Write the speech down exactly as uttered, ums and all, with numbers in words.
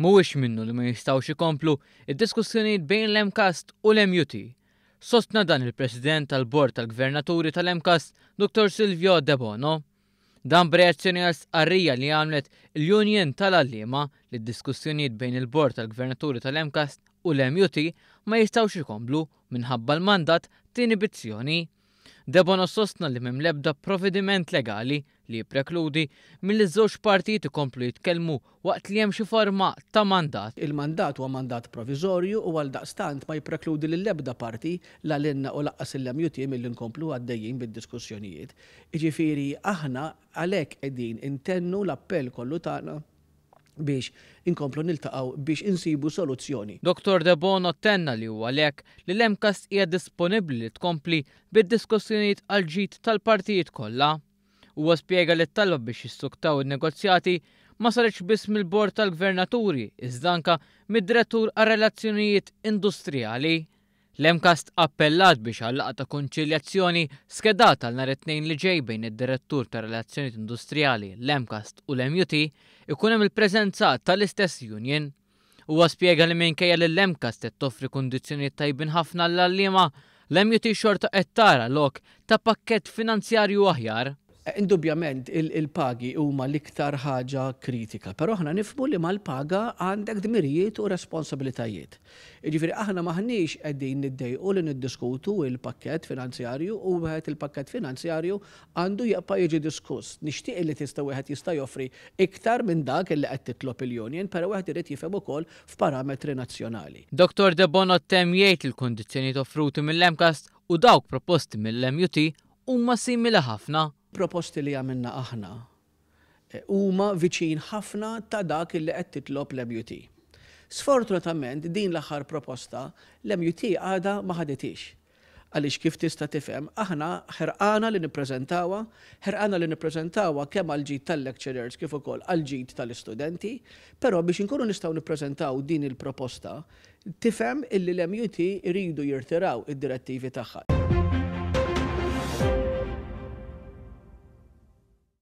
Mhuwiex minnu li ma jistgħux ikomplu id-diskussjonijiet bejn l-MCAST u l-M U T. Sostna dan il-President tal-Bord tal-Gvernaturi tal-MCAST, Doctor Silvio Debono. Dan b'reazzjoni għal stqarrija li għamlet il-Union tal-Għalliema li d-diskussjonijiet bejn il-Bord tal-Gvernaturi tal-MCAST u l-M U T ma jistgħux ikomplu minħabba l-mandat ta' inibizzjoni. Debono sostna li m'hemm l-ebda provvediment legali li jipprekludi milli żewġ partijiet ikomplu jitkellmu waqt li hemm xi forma ta' mandat. Il-mandat huwa mandat provizorju u għaldaqstant ma jipprekludi lill-ebda parti, la lilna u lanqas il-M U T, milli nkomplu għaddejjin bid-diskussjonijiet. Jiġifieri aħna għalhekk qegħdin intennu l-appell kollu tagħna biex inkomplu niltaqgħu biex insibu soluzzjoni. Doctor Debono tenna li huwa għalhekk li l-MCAST hija disponibbli li tkompli bid-diskussjonijiet għal ġid tal-partijiet kollha. Huwa spjega li t-talba biex jissuktaw in-negozjati ma saritx biss mill-Bord tal-Gvernaturi, iżda anka mid-Direttur għar-Relazzjonijiet Industrijali. L-MCAST appellat biex għal ta' konċiljazzjoni skedata għal nhar it-Tnejn li ġej bejn id-Direttur ta' Relazzjonijiet Industrijali, l-MCAST u l-M U T ikun hemm il-preżenza tal-istess union. Huwa spjega li minkejja li l-MCAST qed toffri kundizzjonijiet tajbin ħafna l-għalliema, l-M U T xorta qed tara lok ta' pakkett finanzjarju aħjar. Indubjament il-pagi huma l-iktar ħaġa kritika, però aħna nifhmu li mal-paga għandek dmirijiet u responsabilitajiet. Jiġifieri aħna maħniex qegħdin niddejqu li niddiskutu il-pakkett finanzjarju u wieħed il-pakkett finanzjarju għandu jibqa' jiġi diskuss. Nixtieq li tista' wieħed jista' joffri iktar minn dak li qed titlob il-union, però wieħed irid jifhem ukoll f'parametri nazzjonali. Doctor Debono temm jgħid il-kondizzjonijiet offruti mill-MCAST u dawk proposti mill-M U T huma simili ħafna. Proposti li għamilna aħna eh, huma viċin ħafna ta' dak li qed titlob l-M U T. Sfortunatament din l-aħħar proposta l-M U T għadha ma ħaditix. Għaliex kif tista' tifhem, aħna ħerqana li nippreżentawha, ħerqana li nippreżentawha kemm għal ġid tal-lecturers kif ukoll għal ġid tal-istudenti, però biex inkunu nistgħu nippreżentaw din il-proposta, tifhem illi l-M U T iridu jirtiraw id-direttivi tagħha.